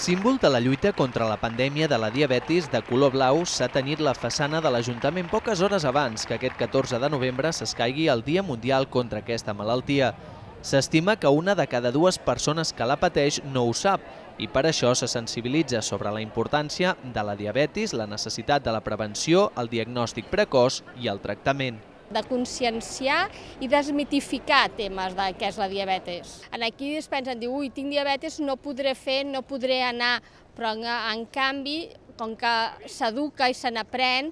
Símbol de la lluita contra la pandèmia de la diabetis, de color blau s'ha tenyit la façana de l'Ajuntament poques hores abans que aquest 14 de novembre s'escaigui el Dia Mundial contra aquesta malaltia. S'estima que una de cada dues persones que la pateix no ho sap i per això se sensibilitza sobre la importància de la diabetis, la necessitat de la prevenció, el diagnòstic precoç i el tractament. De conscienciar i desmitificar temes de què és la diabetis. Aquí es pensen, diu, ui, tinc diabetis, no podré fer, no podré anar, però en canvi, com que s'educa i se n'aprèn,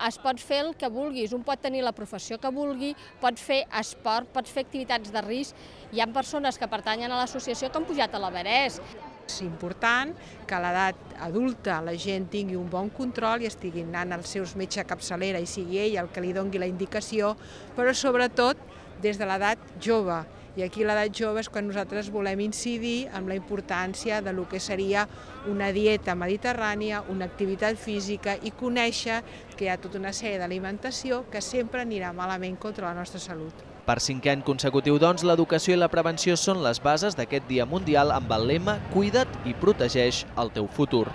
es pot fer el que vulguis, un pot tenir la professió que vulgui, pot fer esport, pot fer activitats de risc. Hi ha persones que pertanyen a l'associació que han pujat a l'Everest. És important que a l'edat adulta la gent tingui un bon control i estigui anant als seus metge capçalera i sigui ell el que li doni la indicació, però sobretot des de l'edat jove. I aquí l'edat jove és quan nosaltres volem incidir en la importància de lo que seria una dieta mediterrània, una activitat física i conèixer que hi ha tota una sèrie d'alimentació que sempre anirà malament contra la nostra salut. Per 5è any consecutiu, doncs, l'educació i la prevenció són les bases d'aquest Dia Mundial amb el lema «Cuida't i protegeix el teu futur».